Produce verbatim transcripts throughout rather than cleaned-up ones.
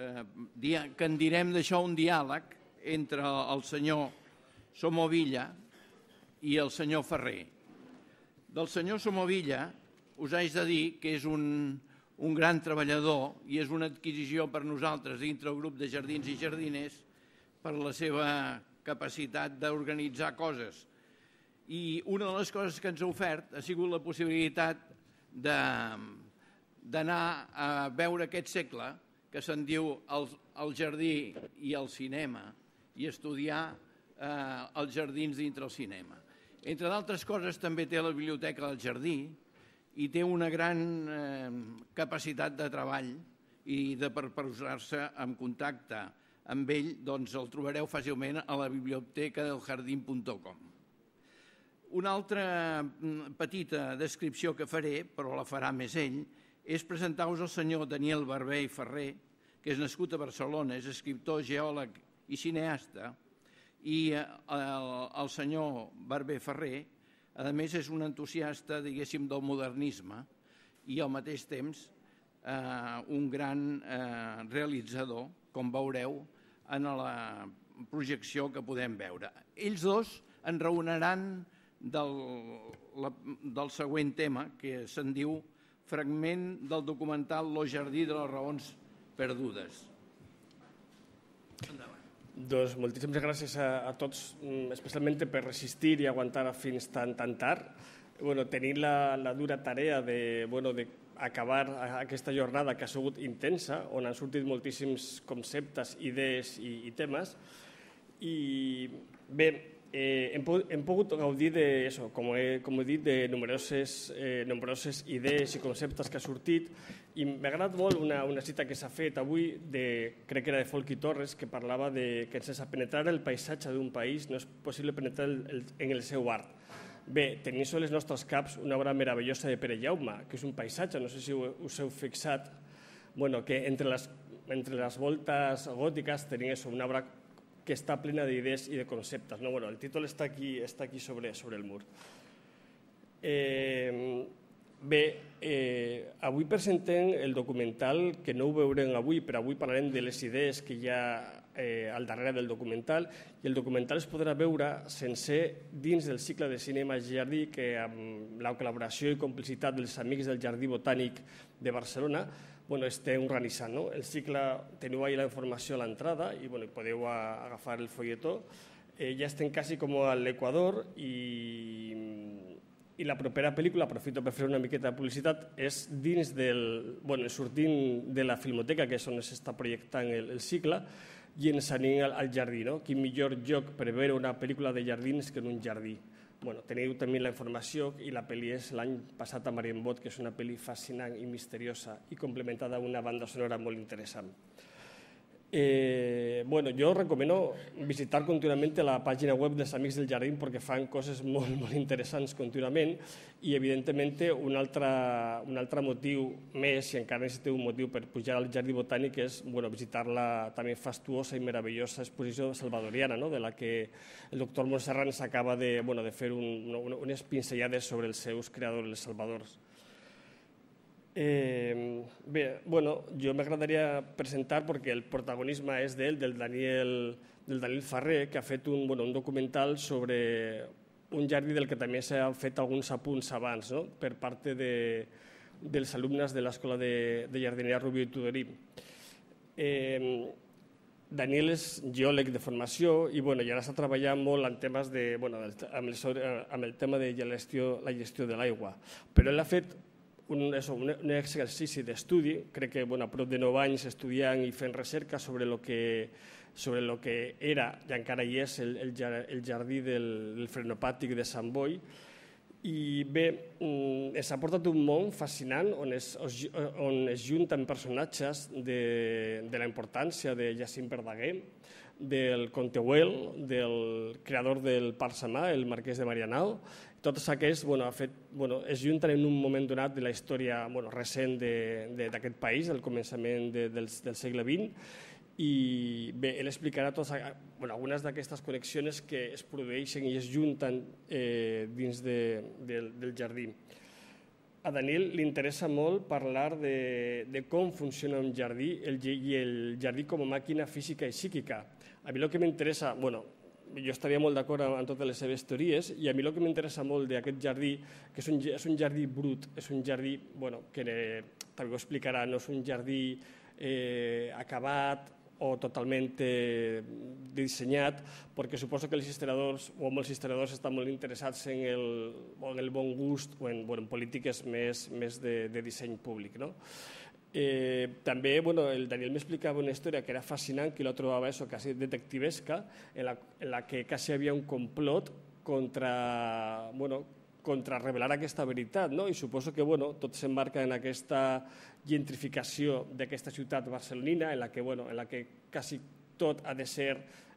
que en direm d'això un diàleg entre el senyor Somovilla i el senyor Ferrer. Del senyor Somovilla us haig de dir que és un, un gran treballador i és una adquisició per nosaltres dintre el grup de jardins i jardiners per la seva capacitat d'organitzar coses. I una de les coses que ens ha ofert ha sigut la possibilitat d'anar a veure aquest segle que se'n diu el, el jardí i el cinema i estudiar eh, els jardins dintre el cinema. Entre d'altres coses també té la biblioteca del jardí i té una gran eh, capacitat de treball i de per posar-se en contacte amb ell, doncs el trobareu fàcilment a la biblioteca del jardín punt com. Una altra petita descripció que faré, però la farà més ell, és presentar-vos el senyor Daniel Barber i Ferrer, que és nascut a Barcelona, és escriptor, geòleg i cineasta, i el, el senyor Barber Ferrer, a més, és un entusiasta, diguéssim, del modernisme i al mateix temps eh, un gran eh, realitzador, com veureu en la projecció que podem veure. Ells dos enraonaran del, la, del següent tema, que se'n diu fragment del documental Lo jardí de les raons perdudes. Endavant. Doncs moltíssimes gràcies a, a tots, especialment per resistir i aguantar fins tan, tan tard. Bueno, tenint la, la dura tarea de, bueno, de acabar aquesta jornada que ha sigut intensa, on han sortit moltíssims conceptes, idees i, i temes. I bé, eh, hem, hem pogut gaudir de, eso, com, he, com he dit, de numeroses, eh, numeroses idees i conceptes que ha sortit. I m'ha agradat molt una, una cita que s'ha fet avui, de, crec que era de Folchi Torres, que parlava de que sense penetrar el paisatge d'un país no és possible penetrar el, el, en el seu art. Bé, tenim sobre els nostres caps una obra meravellosa de Pere Jaume, que és un paisatge, no sé si us heu fixat, bueno, que entre les, entre les voltes gòtiques tenim això, una obra que està plena d'idees i de conceptes. No? Bueno, el títol està aquí, està aquí sobre, sobre el mur. Eh, bé, eh, avui presentem el documental, que no ho veurem avui, però avui parlarem de les idees que hi ha eh, al darrere del documental, i el documental es podrà veure sencer dins del cicle de cinema Jardí, que amb la col·laboració i complicitat dels amics del Jardí Botànic de Barcelona bueno, estem organitzant. No? El cicle, teniu ahí la informació a l'entrada i bueno, podeu a, agafar el folletó. Eh, ja estem quasi com a l'Equador i, i la propera pel·lícula, aprofito per fer una miqueta de publicitat, és dins del, bueno, sortint de la Filmoteca, que és on s'està projectant el, el cicle, i ens anem al, al jardí. No? Quin millor lloc per veure una pel·lícula de jardins que en un jardí. Bueno, teniu també la informació i la pel·li és l'any passat a Marienbot, que és una pel·li fascinant i misteriosa i complementada amb una banda sonora molt interessant. Eh, bueno, jo recomano visitar contínuament la pàgina web dels Amics del Jardí perquè fan coses molt, molt interessants contínuament i, evidentment, un altre, un altre motiu més, i encara necessiteu un motiu per pujar al Jardí Botànic, és bueno, visitar la també fastuosa i meravellosa exposició salvadoriana, no? De la que el doctor Montserrat s'acaba de, bueno, de fer un, un, unes pinzellades sobre els seus creadors, els salvadors. Eh, bé, bueno, jo m'agradaria presentar perquè el protagonisme és d'ell, del Daniel, del Daniel Ferrer, que ha fet un, bueno, un documental sobre un jardí del que també s'han fet alguns apunts abans, no? Per part de, dels alumnes de l'Escola de, de Jardineria Rubió i Tudorí. Eh, Daniel és geòleg de formació i, bueno, i ara està treballant molt en temes de, bueno, amb, el, amb el tema de la gestió, la gestió de l'aigua. Però ell ha fet Un, eso, un, un exercici d'estudi, crec que bueno, a prop de nou anys estudiant i fent recerca sobre el que, sobre lo que era, i encara hi és, el, el, el jardí del, del frenopàtic de Sant Boi. I bé, s'ha portat un món fascinant on es, on es junten personatges de, de la importància de Jacint Verdaguer, del Comte Güell, del creador del Parc Samà, el marquès de Marianao. Tots aquests bueno, ha fet, bueno, es junten en un moment donat de la història bueno, recent d'aquest país, al començament de, del, del segle vint, i bé, ell explicarà totes, bueno, algunes d'aquestes connexions que es produeixen i es junten eh, dins de, de, del jardí. a Daniel li interessa molt parlar de, de com funciona un jardí el, i el jardí com a màquina física i psíquica. A mi el que m'interessa, bueno, jo estaria molt d'acord amb totes les seves teories, i a mi el que m'interessa molt d'aquest jardí, que és un, és un jardí brut, és un jardí, bueno, que eh, també ho explicarà, no és un jardí eh, acabat o totalment eh, dissenyat, perquè suposo que els historiadors o molts historiadors estan molt interessats en el, en el bon gust o en, bueno, en polítiques més, més de, de disseny públic. No? Eh, també bueno, el Daniel m'explicava una història que era fascinant, que la trobava eso, quasi detectivesca, en la, en la que quasi havia un complot contra, bueno, contra revelar aquesta veritat, no? I suposo que bueno, tot s'emmarca en aquesta gentrificació d'aquesta ciutat barcelonina, en la que, bueno, en la que quasi tot ha de ser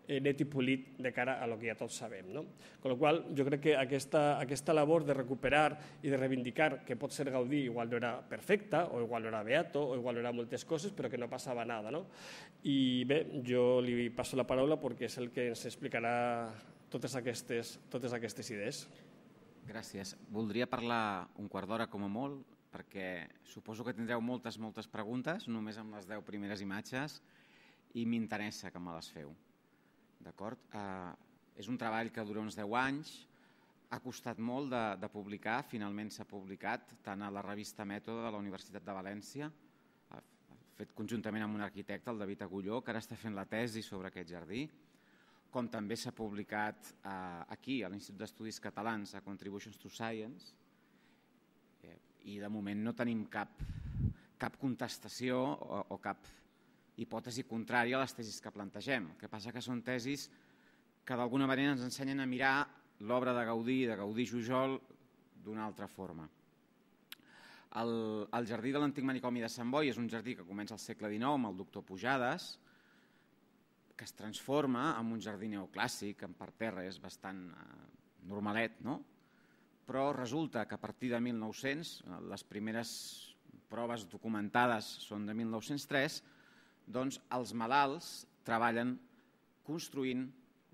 eh, net i polit de cara a lo que ja tots sabem. No? Con lo qual, jo crec que aquesta, aquesta labor de recuperar i de reivindicar que pot ser Gaudí igual no era perfecta, o igual no era beato, o igual no era moltes coses, però que no passava nada. No? I bé, jo li passo la paraula perquè és el que ens explicarà totes aquestes, totes aquestes idees. Gràcies. Voldria parlar un quart d'hora com a molt, perquè suposo que tindreu moltes, moltes preguntes, només amb les deu primeres imatges, i m'interessa que me les feu. D'acord? Eh, és un treball que dura uns deu anys, ha costat molt de, de publicar, finalment s'ha publicat tant a la revista Mètode de la Universitat de València, fet conjuntament amb un arquitecte, el David Agulló, que ara està fent la tesi sobre aquest jardí, com també s'ha publicat eh, aquí, a l'Institut d'Estudis Catalans, a Contributions to Science, eh, i de moment no tenim cap, cap contestació o, o cap hipòtesi contrària a les tesis que plantegem. El que passa que són tesis que d'alguna manera ens ensenyen a mirar l'obra de Gaudí i de Gaudí-Jujol d'una altra forma. El, el jardí de l'antic manicomi de Sant Boi és un jardí que comença al segle dinou amb el doctor Pujades, que es transforma en un jardí neoclàssic, en parterres, bastant eh, normalet, no? Però resulta que a partir de mil nou-cents, les primeres proves documentades són de mil nou-cents tres, doncs els malalts treballen construint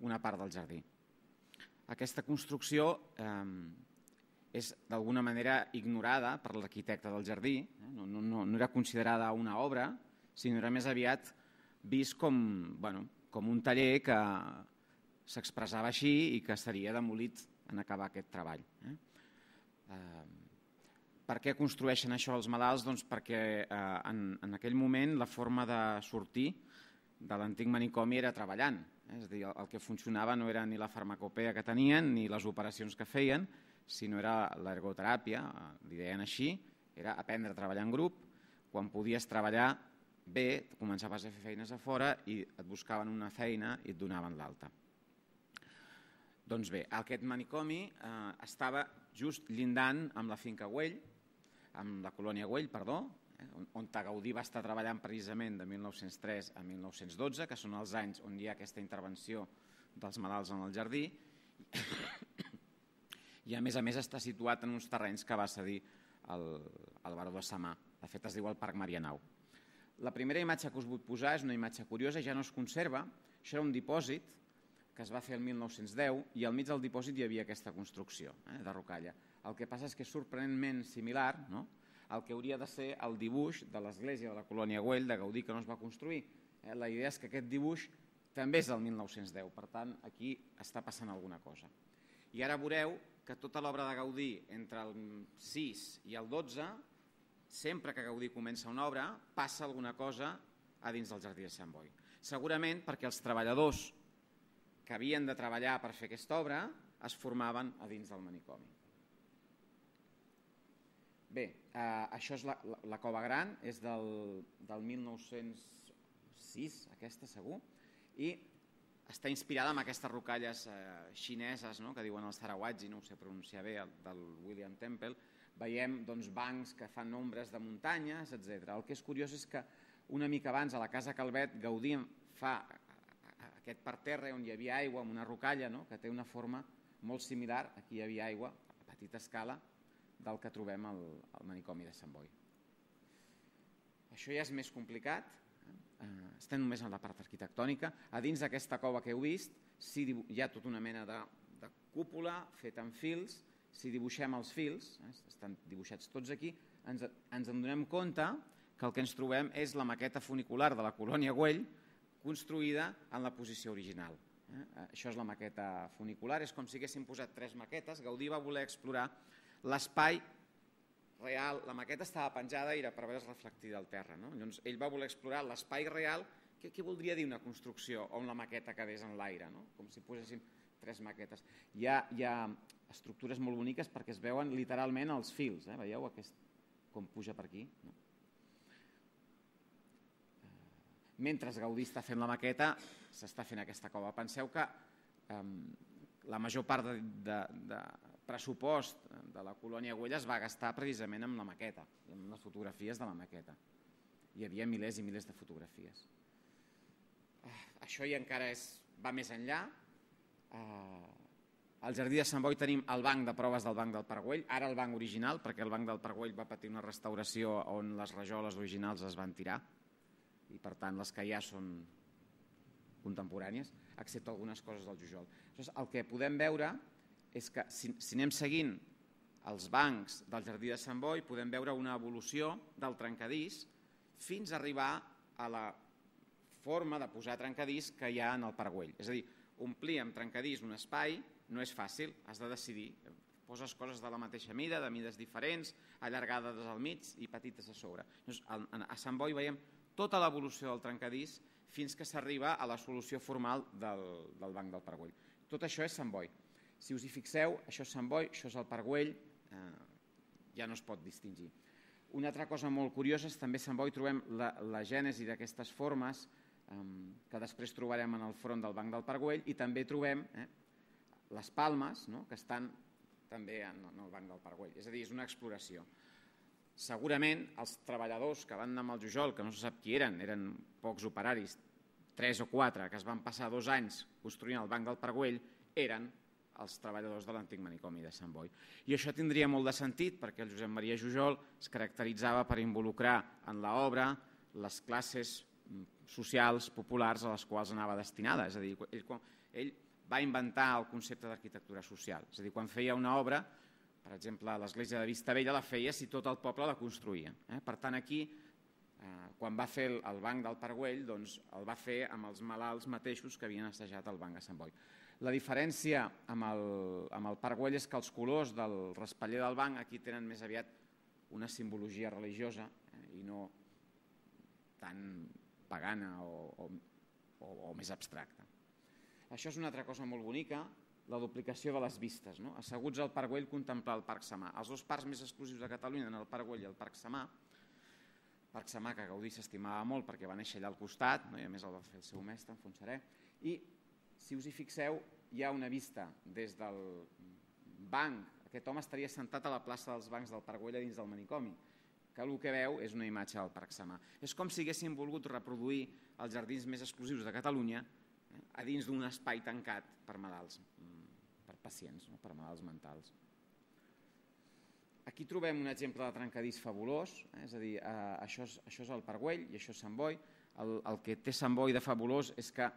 una part del jardí. Aquesta construcció eh, és d'alguna manera ignorada per l'arquitecte del jardí, eh? no, no, no era considerada una obra, sinó era més aviat vist com, bueno, com un taller que s'expressava així i que seria demolit en acabar aquest treball. Eh? Eh, per què construeixen això els malalts? Doncs perquè eh, en, en aquell moment la forma de sortir de l'antic manicomi era treballant. Eh? És a dir, el, el que funcionava no era ni la farmacopea que tenien ni les operacions que feien, sinó era l'ergoteràpia, li deien així, era aprendre a treballar en grup. Quan podies treballar bé, començaves a fer feines a fora i et buscaven una feina i et donaven l'alta. Doncs bé, aquest manicomi eh, estava just llindant amb la finca Güell, amb la colònia Güell, perdó, eh, on, on Gaudí va estar treballant precisament de mil nou-cents tres a mil nou-cents dotze, que són els anys on hi ha aquesta intervenció dels malalts en el jardí, i a més a més està situat en uns terrenys que va cedir el, el baró de Samà. De fet, es diu el Parc Marianao. La primera imatge que us vull posar és una imatge curiosa, ja no es conserva. Això era un dipòsit que es va fer el mil nou-cents deu i al mig del dipòsit hi havia aquesta construcció eh, de rocalla. El que passa és que és sorprenentment similar, no?, al que hauria de ser el dibuix de l'església de la colònia Güell de Gaudí que no es va construir. Eh, la idea és que aquest dibuix també és del mil nou-cents deu, per tant, aquí està passant alguna cosa. I ara veureu que tota l'obra de Gaudí entre el sis i el dotze, sempre que Gaudí comença una obra, passa alguna cosa a dins del jardí de Sant Boi. Segurament perquè els treballadors que havien de treballar per fer aquesta obra es formaven a dins del manicomi. Bé, eh, això és la, la, la Cova Gran, és del, del mil nou-cents sis, aquesta segur, i està inspirada en aquestes rocalles eh, xineses, no?, que diuen els sarawatgi, no ho sé pronunciar bé, el, del William Temple. Veiem doncs, bancs que fan ombres de muntanyes, etcètera. El que és curiós és que una mica abans a la Casa Calvet Gaudí fa aquest parterre on hi havia aigua amb una rocalla, no?, que té una forma molt similar, aquí hi havia aigua a petita escala, del que trobem al, al manicomi de Sant Boi. Això ja és més complicat, eh? Estem només en la part arquitectònica. A dins d'aquesta cova que heu vist sí, hi ha tota una mena de, de cúpula feta amb fils si dibuixem els fils, eh, estan dibuixats tots aquí, ens, ens en donem compte que el que ens trobem és la maqueta funicular de la colònia Güell construïda en la posició original. Eh? Això és la maqueta funicular, és com si haguéssim posat tres maquetes. Gaudí va voler explorar l'espai real, la maqueta estava penjada i era per veure's reflectida al terra. No? Llavors, ell va voler explorar l'espai real. Què, què voldria dir una construcció on la maqueta quedés en l'aire? No? Com si poséssim tres maquetes. Hi ha, hi ha estructures molt boniques perquè es veuen literalment els fils. Eh? Veieu aquest, com puja per aquí? No? Mentre Gaudí està fent la maqueta, s'està fent aquesta cova. Penseu que eh, la major part de, de, de pressupost de la colònia Güell es va gastar precisament amb la maqueta, amb les fotografies de la maqueta. Hi havia milers i milers de fotografies. Eh, això ja encara és, va més enllà. Eh, al Jardí de Sant Boi tenim el banc de proves del Banc del Parc Güell, ara el banc original, perquè el Banc del Parc Güell va patir una restauració on les rajoles originals es van tirar, i per tant les que hi ha són contemporànies, excepte algunes coses del Jujol. Llavors, el que podem veure és que si, si anem seguint els bancs del Jardí de Sant Boi podem veure una evolució del trencadís fins a arribar a la forma de posar trencadís que hi ha en el Parc Güell. És a dir, omplir amb trencadís un espai no és fàcil, has de decidir. Poses coses de la mateixa mida, de mides diferents, allargades al mig i petites a sobre. Llavors, a Sant Boi veiem tota l'evolució del trencadís fins que s'arriba a la solució formal del, del Banc del Parc Güell. Tot això és Sant Boi. Si us hi fixeu, això és Sant Boi, això és el Parc Güell, eh, ja no es pot distingir. Una altra cosa molt curiosa és també a Sant Boi trobem la, la gènesi d'aquestes formes eh, que després trobarem en el front del Banc del Parc Güell i també trobem eh, les palmes, no?, que estan també en, en el Banc del Parc Güell. És a dir, és una exploració. Segurament els treballadors que van anar amb el Jujol, que no se sap qui eren, eren pocs operaris, tres o quatre, que es van passar dos anys construint el Banc del Parc Güell, eren els treballadors de l'antic manicomi de Sant Boi. I això tindria molt de sentit perquè el Josep Maria Jujol es caracteritzava per involucrar en l'obra les classes socials, populars a les quals anava destinada. És a dir, ell, ell va inventar el concepte d'arquitectura social. És a dir, quan feia una obra, per exemple, l'església de Vistabella la feia si tot el poble la construïa. Eh? Per tant, aquí, eh, quan va fer el, el Banc del Parc Güell, doncs, el va fer amb els malalts mateixos que havien assajat el Banc a Sant Boi. La diferència amb el, amb el Parc Güell és que els colors del raspaller del banc aquí tenen més aviat una simbologia religiosa eh, i no tan pagana o, o, o, o més abstracta. Això és una altra cosa molt bonica, la duplicació de les vistes. No? Asseguts al Parc Güell, contemplar el Parc Samà. Els dos parcs més exclusius de Catalunya eren el Parc Güell i el Parc Samà. Parc Samà que Gaudí s'estimava molt perquè va néixer allà al costat, no? I a més el va fer el seu mestre, en Fontserè. I si us hi fixeu, hi ha una vista des del banc. Aquest home estaria sentat a la plaça dels bancs del Parc Güell a dins del manicomi, que el que veu és una imatge del Parc Samà. És com si haguéssim volgut reproduir els jardins més exclusius de Catalunya eh, a dins d'un espai tancat per malalts, per pacients, no? Per malalts mentals. Aquí trobem un exemple de trencadís fabulós, eh? És a dir, eh, això, és, això és el Parc Güell i això és Sant Boi. El, el que té Sant Boi de fabulós és que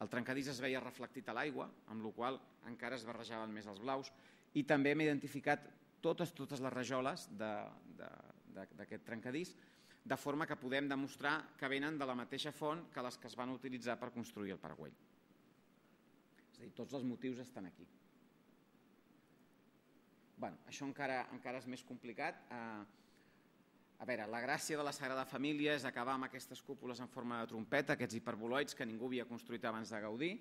el trencadís es veia reflectit a l'aigua, amb la qual cosa encara es barrejaven més els blaus, i també hem identificat totes, totes les rajoles d'aquest trencadís, de forma que podem demostrar que venen de la mateixa font que les que es van utilitzar per construir el Parc Güell. És a dir, tots els motius estan aquí. Bueno, això encara, encara és més complicat. Eh, a veure, la gràcia de la Sagrada Família és acabar amb aquestes cúpules en forma de trompeta, aquests hiperboloids que ningú havia construït abans de Gaudí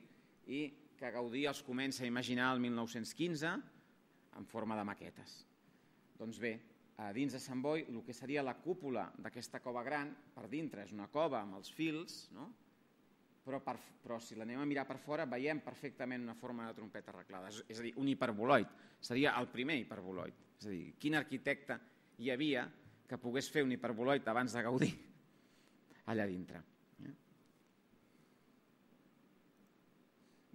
i que Gaudí els comença a imaginar el mil nou-cents quinze en forma de maquetes. Doncs bé, a dins de Sant Boi, el que seria la cúpula d'aquesta cova gran, per dintre és una cova amb els fils, no? Però, per, però si l'anem a mirar per fora veiem perfectament una forma de trompeta arreglada, és, és a dir, un hiperboloid, seria el primer hiperboloid. És a dir, quin arquitecte hi havia que pogués fer un hiperboloid abans de Gaudí allà dintre. Eh?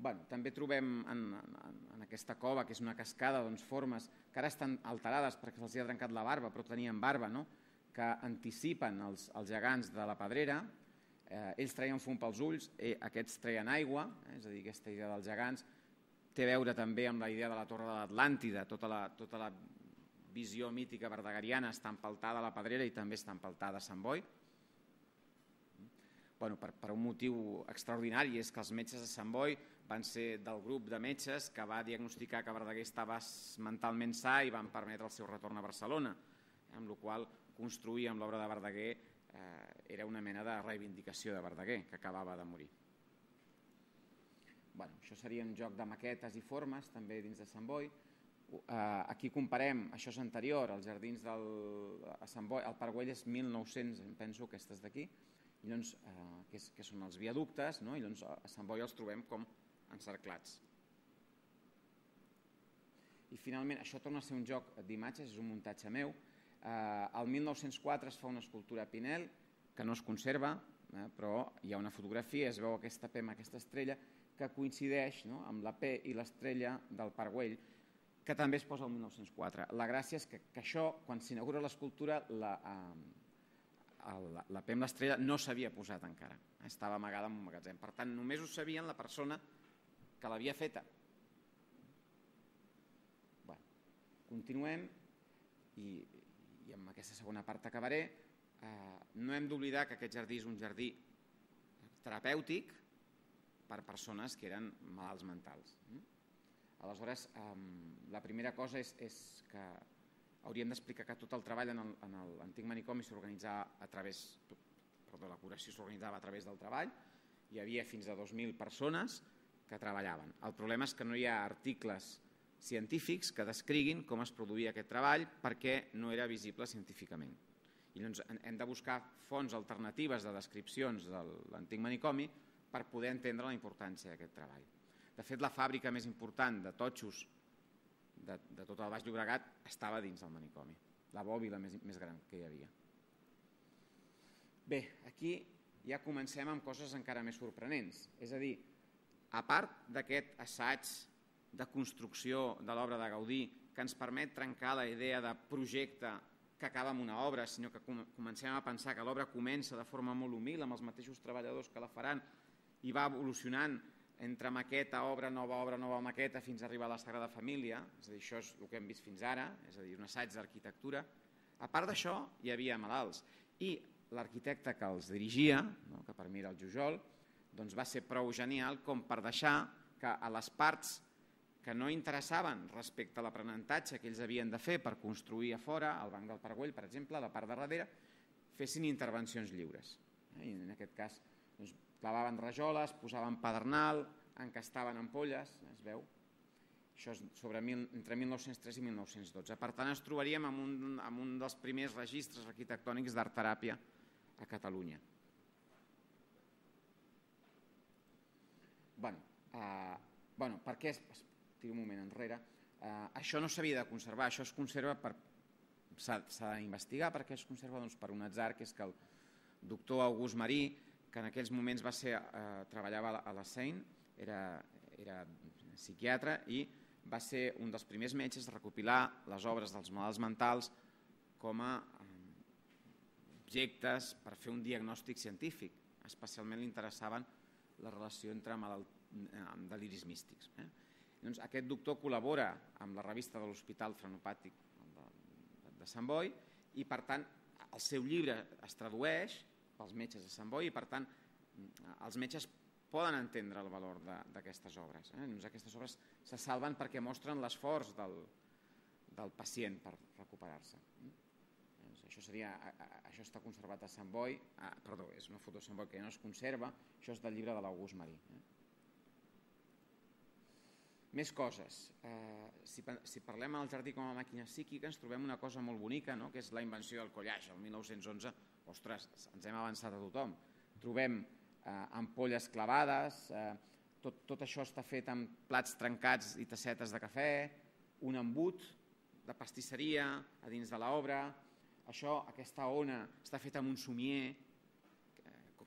Bueno, també trobem en, en, en aquesta cova, que és una cascada, doncs, formes que ara estan alterades perquè se'ls ha trencat la barba, però tenien barba, no? Que anticipen els, els gegants de la Pedrera. Eh, ells traien fum pels ulls, eh, aquests treien aigua, eh, és a dir, aquesta idea dels gegants. té a veure també amb la idea de la Torre de l'Atlàntida, tota la, tota la visió mítica verdegariana està empaltada a la Pedrera i també està empaltada a Sant Boi. Bueno, per, per un motiu extraordinari, és que els metges de Sant Boi van ser del grup de metges que va diagnosticar que Verdaguer estava mentalment sa i van permetre el seu retorn a Barcelona, amb la qual construir amb l'obra de Verdaguer eh, era una mena de reivindicació de Verdaguer, que acabava de morir. Bueno, això seria un joc de maquetes i formes, també dins de Sant Boi. Uh, aquí comparem, això és anterior, els jardins del, a Sant Boi, el Parc Güell és mil nou-cents, em penso, aquestes d'aquí, i doncs, uh, que, és, que són els viaductes, no? I doncs a Sant Boi els trobem com encerclats. I finalment, això torna a ser un joc d'imatges, és un muntatge meu. Uh, el mil nou-cents quatre es fa una escultura a Pinel, que no es conserva, eh, però hi ha una fotografia, es veu aquesta P amb aquesta estrella, que coincideix, no?, amb la P i l'estrella del Parc Güell, que també es posa el mil nou-cents quatre. La gràcia és que, que això, quan s'inaugura l'escultura, la, eh, la, la P amb l'estrella no s'havia posat encara, estava amagada en un magatzem. Per tant, només ho sabien la persona que l'havia feta. Bueno, continuem i, i amb aquesta segona part acabaré. Eh, no hem d'oblidar que aquest jardí és un jardí terapèutic per persones que eren malalts mentals. Aleshores, la primera cosa és, és que hauríem d'explicar que tot el treball en l'antic manicomi s'organitzava a través, perdó, la curació s'organitzava a través del treball, hi havia fins a dos mil persones que treballaven. El problema és que no hi ha articles científics que descriguin com es produïa aquest treball perquè no era visible científicament. I llavors hem de buscar fonts alternatives de descripcions de l'antic manicomi per poder entendre la importància d'aquest treball. De fet, la fàbrica més important de totxos de, de tot el Baix Llobregat estava dins del manicomi, la bòbila més, més gran que hi havia. Bé, aquí ja comencem amb coses encara més sorprenents. És a dir, a part d'aquest assaig de construcció de l'obra de Gaudí que ens permet trencar la idea de projecte que acaba amb una obra, sinó que comencem a pensar que l'obra comença de forma molt humil amb els mateixos treballadors que la faran i va evolucionant entre maqueta, obra, nova obra, nova maqueta, fins a arribar a la Sagrada Família. És a dir, això és el que hem vist fins ara, és a dir, un assaig d'arquitectura. A part d'això, hi havia malalts. I l'arquitecte que els dirigia, no, que per mi era el Jujol, doncs va ser prou genial com per deixar que a les parts que no interessaven respecte a l'aprenentatge que ells havien de fer per construir a fora, al Banc del Parc Güell, per exemple, a la part de darrere, fessin intervencions lliures. I en aquest cas, doncs, clavaven rajoles, posaven pedernal, encastaven ampolles, es veu. Això és sobre mil, entre mil nou-cents tres i mil nou-cents dotze. Per tant, ens trobaríem amb un, amb un dels primers registres arquitectònics d'art-teràpia a Catalunya. Bueno, eh, bueno, per què? Tiro un moment enrere. Eh, això no s'havia de conservar, això es conserva per... S'ha d'investigar per què es conserva, doncs per un atzar, que és que el doctor August Marí, que en aquells moments va ser, eh, treballava a la Seine, era, era psiquiatre i va ser un dels primers metges a recopilar les obres dels malalts mentals com a eh, objectes per fer un diagnòstic científic. Especialment li interessaven la relació entre malalt, amb deliris místics. Eh? Doncs aquest doctor col·labora amb la revista de l'Hospital Frenopàtic de, de Sant Boi i, per tant, el seu llibre es tradueix pels metges de Sant Boi i, per tant, els metges poden entendre el valor d'aquestes obres. Eh? Doncs aquestes obres se salven perquè mostren l'esforç del, del pacient per recuperar-se. Doncs això, seria, això està conservat a Sant Boi, ah, perdó, és una foto de Sant Boi que ja no es conserva, això és del llibre de l'August Marí. Eh? Més coses. Eh, si, si parlem al jardí com a màquina psíquica, ens trobem una cosa molt bonica, no?, que és la invenció del collage. El mil nou-cents onze, ostres, ens hem avançat a tothom. Trobem eh, ampolles clavades, eh, tot, tot això està fet amb plats trencats i tassetes de cafè, un embut de pastisseria a dins de l'obra. Això, aquesta ona, està feta amb un somier,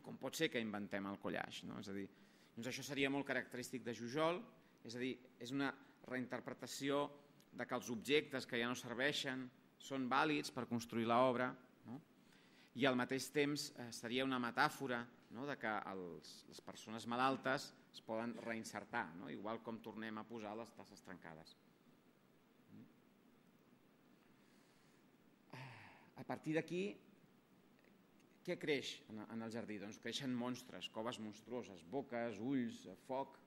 com pot ser que inventem el collage, no? És a dir, doncs això seria molt característic de Jujol. És a dir, és una reinterpretació de que els objectes que ja no serveixen són vàlids per construir l'obra, no? I al mateix temps eh, seria una metàfora no? De que els, les persones malaltes es poden reinsertar, no? Igual com tornem a posar les tasses trencades. A partir d'aquí, què creix en el jardí? Doncs creixen monstres, coves monstruoses, boques, ulls, foc,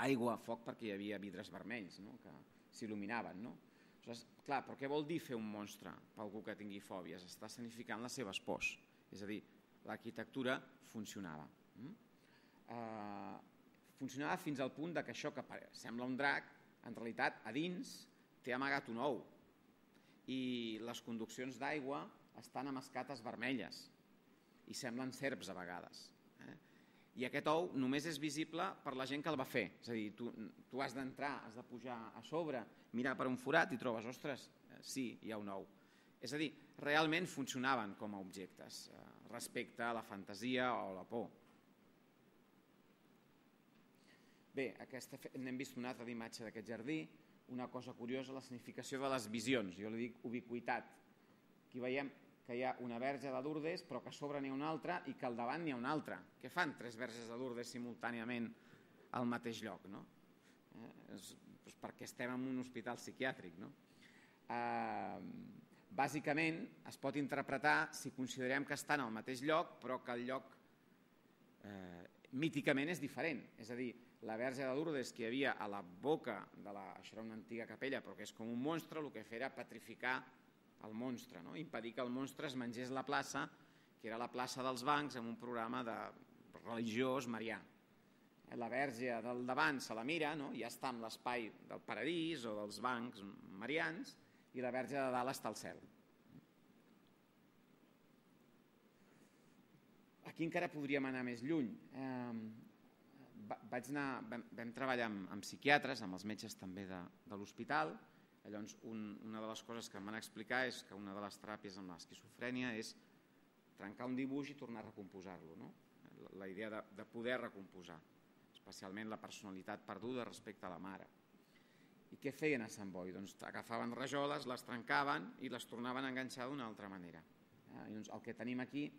aigua, foc perquè hi havia vidres vermells, no? Que s'il·luminaven. No? Aleshores, clar, però què vol dir fer un monstre per algú que tingui fòbies? Està escenificant les seves pors. És a dir, l'arquitectura funcionava. Uh, funcionava fins al punt que això que sembla un drac, en realitat a dins té amagat un ou. I les conduccions d'aigua estan amb escates vermelles i semblen serps a vegades. Eh? I aquest ou només és visible per la gent que el va fer. És a dir, tu, tu has d'entrar, has de pujar a sobre, mirar per un forat i trobes, ostres, eh, sí, hi ha un ou. És a dir, realment funcionaven com a objectes eh, respecte a la fantasia o la por. Bé, aquesta, n'hem vist una altra imatge d'aquest jardí. Una cosa curiosa, la significació de les visions, jo li dic ubiquitat. Aquí veiem que hi ha una verge de Lourdes, però que a sobre n'hi ha una altra i que al davant n'hi ha una altra. Què fan tres verges de Lourdes simultàniament al mateix lloc? No? Eh, és, doncs perquè estem en un hospital psiquiàtric. No? Eh, bàsicament es pot interpretar si considerem que estan al mateix lloc, però que el lloc eh, míticament és diferent. És a dir, la verge de Lourdes que hi havia a la boca de la... Això era una antiga capella, però que és com un monstre, el que feia era petrificar el monstre, no? Impedir que el monstre es mengés la plaça, que era la plaça dels bancs, amb un programa de religiós marià. La verge del davant se la mira, no? Ja està en l'espai del paradís o dels bancs marians, i la verge de dalt està al cel. Aquí encara podríem anar més lluny. Eh... Vaig anar, vam, vam treballar amb, amb psiquiatres, amb els metges també de, de l'hospital. Llavors, un, una de les coses que em van explicar és que una de les teràpies amb l'esquizofrènia és trencar un dibuix i tornar a recomposar-lo. No? La, la idea de, de poder recomposar, especialment la personalitat perduda respecte a la mare. I què feien a Sant Boi? Doncs agafaven rajoles, les trencaven i les tornaven a enganxar d'una altra manera. Eh? Llavors, el que tenim aquí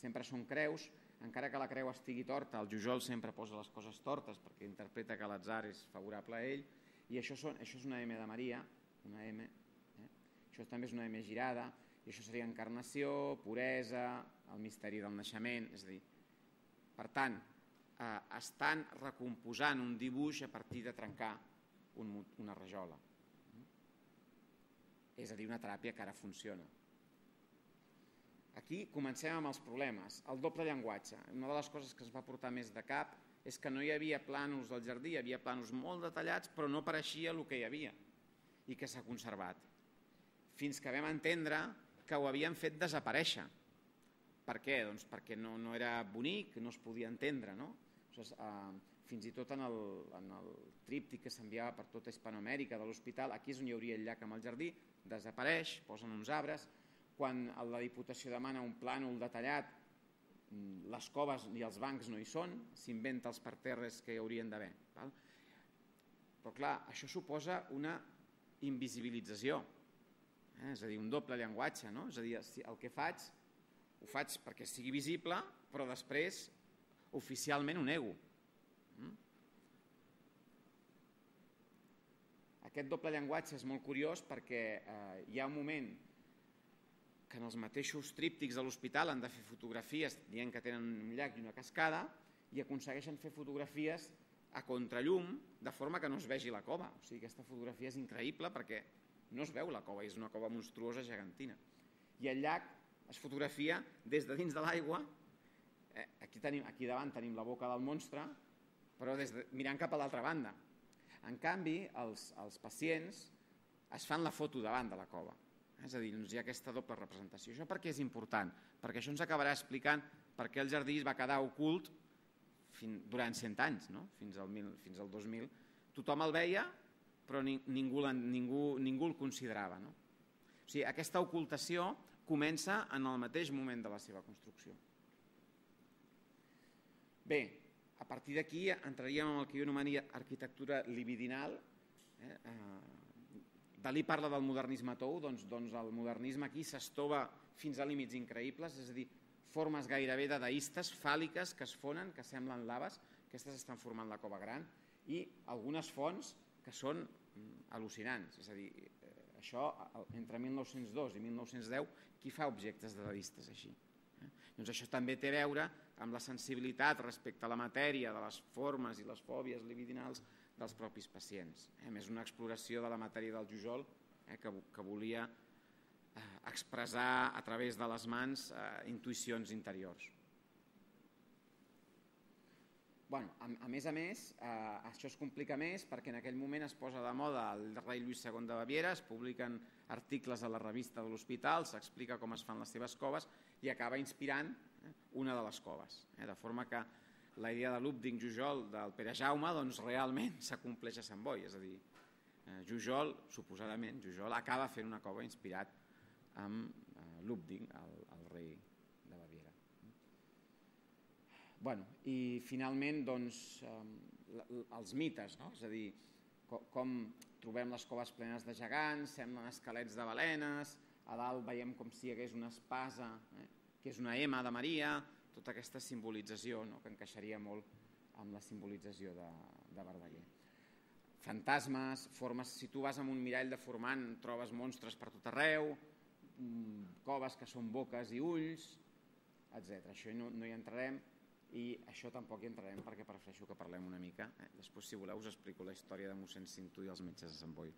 sempre són creus. Encara que la creu estigui torta, el Jujol sempre posa les coses tortes perquè interpreta que l'atzar és favorable a ell, i això, són, això és una M de Maria, una M, eh? Això també és una M girada, i això seria encarnació, puresa, el misteri del naixement, és a dir, per tant, eh, estan recomposant un dibuix a partir de trencar un, una rajola. És a dir, una teràpia que ara funciona. Aquí comencem amb els problemes. El doble llenguatge. Una de les coses que es va portar més de cap és que no hi havia plànols del jardí, hi havia plànols molt detallats, però no pareixia el que hi havia i que s'ha conservat. Fins que vam entendre que ho havien fet desaparèixer. Per què? Doncs perquè no, no era bonic, no es podia entendre. No? Aleshores, eh, fins i tot en el, en el tríptic que s'enviava per tota Hispanoamèrica de l'hospital, aquí és on hi hauria el llac amb el jardí, desapareix, posen uns arbres. Quan la Diputació demana un plànol detallat, les coves i els bancs no hi són, s'inventa els parterres que hi haurien d'haver. Però clar, això suposa una invisibilització, eh? És a dir, un doble llenguatge. No? És a dir, el que faig, ho faig perquè sigui visible, però després oficialment ho nego. Aquest doble llenguatge és molt curiós perquè eh, hi ha un moment que en els mateixos tríptics de l'hospital han de fer fotografies dient que tenen un llac i una cascada i aconsegueixen fer fotografies a contrallum de forma que no es vegi la cova. O sigui, aquesta fotografia és increïble perquè no es veu la cova, és una cova monstruosa gegantina. I el llac es fotografia des de dins de l'aigua. Eh, aquí, tenim, aquí davant tenim la boca del monstre, però des de, mirant cap a l'altra banda. En canvi, els, els pacients es fan la foto davant de la cova. És a dir, hi ha aquesta doble representació. Això per què és important? Perquè això ens acabarà explicant per què el jardí es va quedar ocult durant cent anys, no? fins, al mil, fins al dos mil. Tothom el veia, però ningú, ningú, ningú el considerava. No? O sigui, aquesta ocultació comença en el mateix moment de la seva construcció. Bé, a partir d'aquí entraríem en el que jo anomenia arquitectura libidinal. Eh? Dalí parla del modernisme tou, doncs, doncs el modernisme aquí s'estova fins a límits increïbles, és a dir, formes gairebé dadaistes, fàl·liques, que es fonen, que semblen laves, aquestes estan formant la cova gran, i algunes fonts que són al·lucinants. És a dir, això, entre mil nou-cents dos i mil nou-cents deu, qui fa objectes dadaistes així? Doncs això també té a veure amb la sensibilitat respecte a la matèria, de les formes i les fòbies libidinals dels propis pacients. A més, una exploració de la matèria del Jujol que volia expressar a través de les mans intuïcions interiors. A més a més, això es complica més perquè en aquell moment es posa de moda el rei Lluís segon de Baviera, es publiquen articles a la revista de l'hospital, s'explica com es fan les seves coves i acaba inspirant una de les coves. De forma que la idea de l'Úbding-Jujol del Pere Jaume realment s'acompleix a Sant Boi. És a dir, Jujol, suposadament, Jujol acaba fent una cova inspirat amb l'Úbding, el rei de Baviera. I finalment, els mites, és a dir, com trobem les coves plenes de gegants, semblen esquelets de balenes, a dalt veiem com si hi hagués una espasa, que és una ema de Maria, tota aquesta simbolització que encaixaria molt amb la simbolització de Verdaguer. Fantasmes, formes, si tu vas amb un mirall deformant trobes monstres per tot arreu, coves que són boques i ulls, etcètera. Això no hi entrarem i això tampoc hi entrarem perquè prefereixo que parlem una mica. Després, si voleu, us explico la història de mossèn Cinto i els metges de Sant Boi.